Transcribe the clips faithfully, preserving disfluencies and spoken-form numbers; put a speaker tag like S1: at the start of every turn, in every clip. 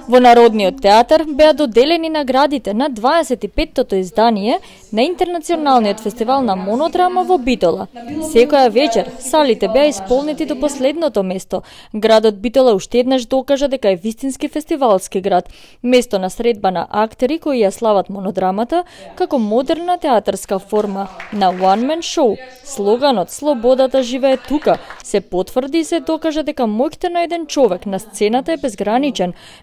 S1: Во Народниот театар беа доделени наградите на дваесет и петтото издание на Интернационалниот фестивал на монодрама во Битола. Секоја вечер салите беа исполнети до последното место. Градот Битола уште еднаш докажа дека е вистински фестивалски град, место на средба на актери кои ја слават монодрамата како модерна театарска форма на one man show. Слоганот "Слободата живее тука" се потврди и се докажа дека моќта на еден човек на сцената е безграничен.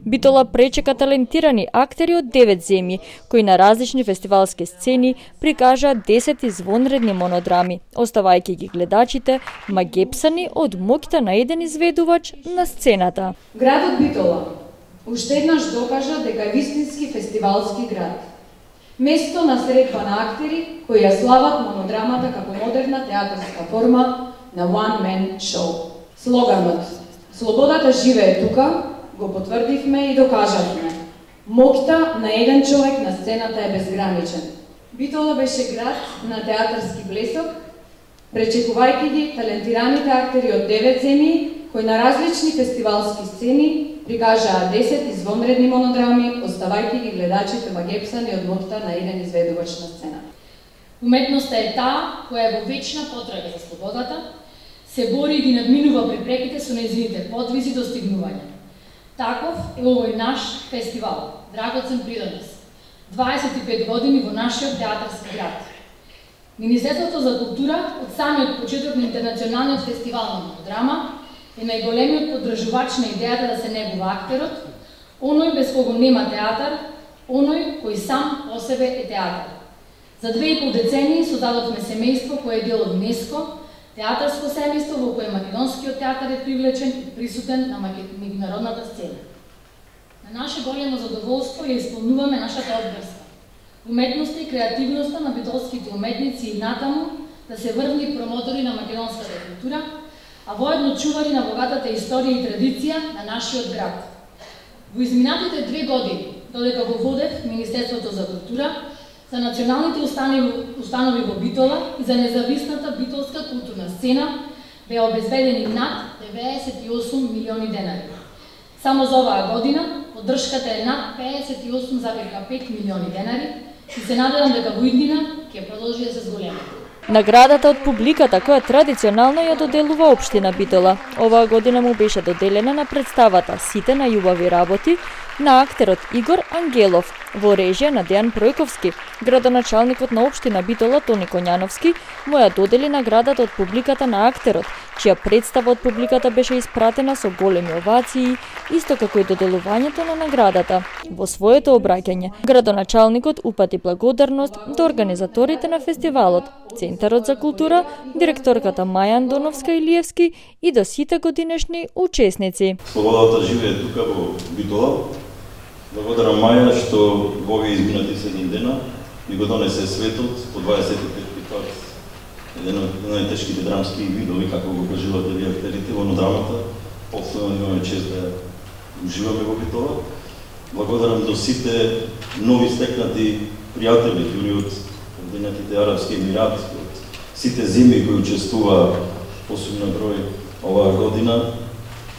S1: Битола пречека талентирани актери од девет земји, кои на различни фестивалски сцени прикажаа десет извонредни монодрами, оставајќи ги гледачите магепсани од моќта на еден изведувач на сцената.
S2: Градот Битола уште еднаш докажа дека е вистински фестивалски град. Место на средба на актери кои ја слават монодрамата како модерна театарска форма на one man show. Слоганот "Слободата живее тука" го потврдивме и докажавме. Моќта на еден човек на сцената е безграничен. Битола беше град на театарски блесок, пречекувајќи ги талентираните актери од девет земји, кои на различни фестивалски сцени прикажаа десет извонредни монодрами, оставајќи ги гледачите магепсани од моќта на еден изведувач на сцена.
S3: Уметноста е таа која е во вечна потрага за слободата, се бори и ги надминува препреките со нејзините подвизи и достигнувања. Таков е овој наш фестивал, драгоцен придонес. дваесет и пет години во нашиот театарски град. Министерството за култура од самиот почеток на Интернационалниот фестивал на монодрама е најголемиот поддржувач на идејата да се негува актерот, оној без кого нема театар, оној кој сам по себе е театар. За две и пол децении создадовме семејство кое е дел од ЮНЕСКО, театарско семејство во кое македонскиот театар е привлечен и присутен на меѓународната сцена. На наше големо задоволство ја исполнуваме нашата обврска. Уметноста и креативноста на битолските уметници и натаму да се врвни промотори на македонската култура, а воедно чувари на богатата историја и традиција на нашиот град. Во изминатите две години, додека го водев Министерството за култура, за националните установи, установи во Битола и за независната битолска културна сцена беа обезбедени над деветдесет и осум милиони денари. Само за оваа година поддршката е над педесет и осум зарез пет милиони денари и се надевам дека во иднина ќе продолжи да се зголеми.
S1: Наградата од публиката која традиционално ја доделува општина Битола, оваа година му беше доделена на представата "Сите на љубави работи" на актерот Игор Ангелов во режија на Дејан Пројковски. Градоначалникот на општина Битола Тони Коњановски му ја додели наградата од публиката на актерот, чија представа од публиката беше испратена со големи овации, исто како и доделувањето на наградата. Во своето обраќање, градоначалникот упати благодарност до организаторите на фестивалот, Центарот за култура, директорката Маја Андоновска-Илиевски и до сите годинешни учесници.
S4: Слободата живее тука во Битола. Благодарам Маја што во овие изминати седум дена ми го донесе светот по дваесет и петти пат. Еден од најтешките драмски видови, како го кажувате вие актерите во драмата. Повторно имаме чест да уживаме во Битола. Благодарам до сите нови стекнати пријатели, дури од Обединетите арапски емирати, од сите земји кои учествуваа посебно број оваа година.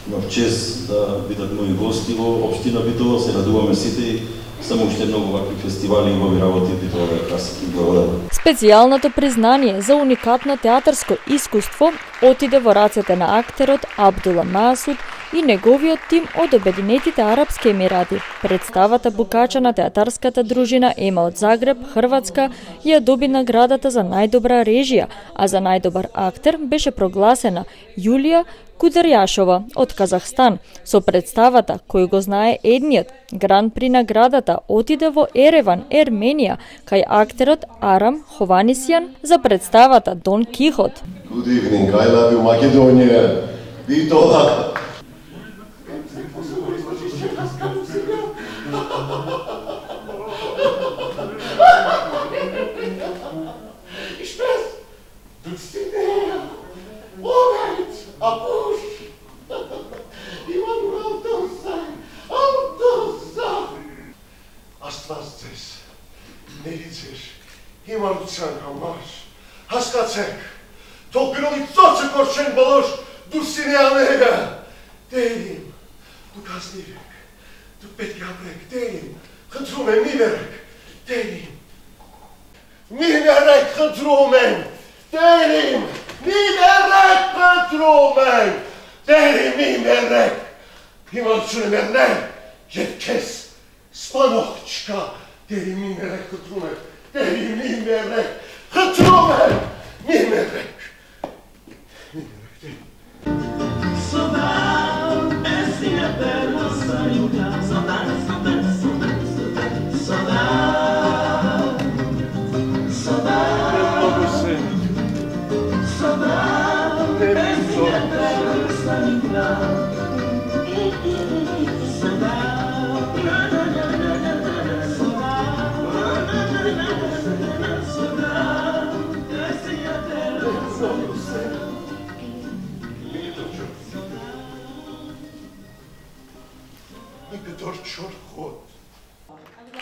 S4: Имав чест да бидат мои гости во општина Битола, се радуваме сите и само уште многу вакви фестивали и овие работи Битола да краси. Благодарам.
S1: Специјалното признание за уникатно театарско искуство отиде во рацете на актерот Абдула Масуд и неговиот тим од Обединетите арапски емирати. Представата букача на театарската дружина Ема од Загреб, Хрватска, ја доби наградата за најдобра режија, а за најдобар актер беше прогласена Јулија Кударјашова од Казахстан со представата кој го знае едниот. Гран при наградата отиде во Ереван, Ерменија, кај актерот Арам Хованисјан за представата Дон Кихот.
S5: Good evening, I love you, Macedonia. Bitola.
S6: Astվածես, ներիցեր, հիմարության համար, հասկացեք, թող գրողի ծոցը կորչեն բոլոր դուսինեաները, դերիմ, դուք ազնիվ եք, Du Petke Abrek, Denim, Gentrumen, Mimerek, Denim. Mimerek, Gentrumen, Denim, Mimerek, Gentrumen, Denim, Mimerek. Imalčune merne, Jetkes, Spanochčka, Denim, Mimerek, Gentrumen, Denim, Mimerek, Gentrumen, Mimerek. Mimerek, Denim.
S7: Saudade, essa é a perna saiuda. Saudade, saudade, saudade, saudade, saudade, saudade, essa é a perna saiuda. Saudade, saudade, essa é a perna saiuda.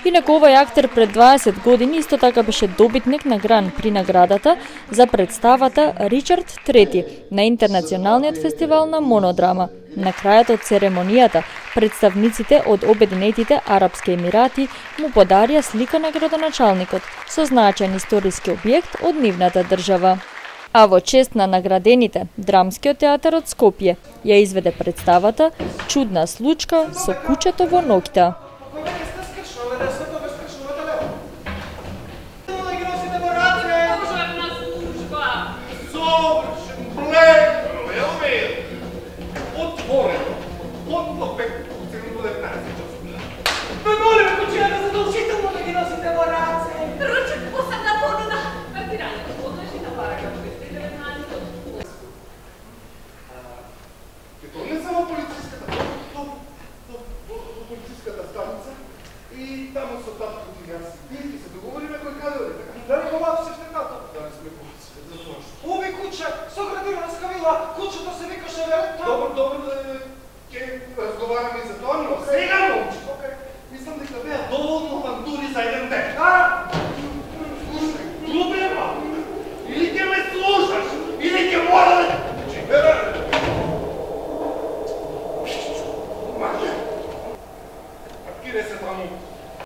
S1: Инаку овој актер пред дваесет години исто така беше добитник на Гран при наградата за представата Ричард трети на Интернационалниот фестивал на монодрама. На крајот од церемонијата, представниците од Обединетите Арапски Емирати му подарија слика на градоначалникот со значаен историски објект од нивната држава. А во чест на наградените, Драмскиот театар од Скопје ја изведе представата Чудна случка со кучето во ноќта.
S6: Кучето се викаше Верет. Добро, добро, ќе разговараме и за тоа, но сега научите.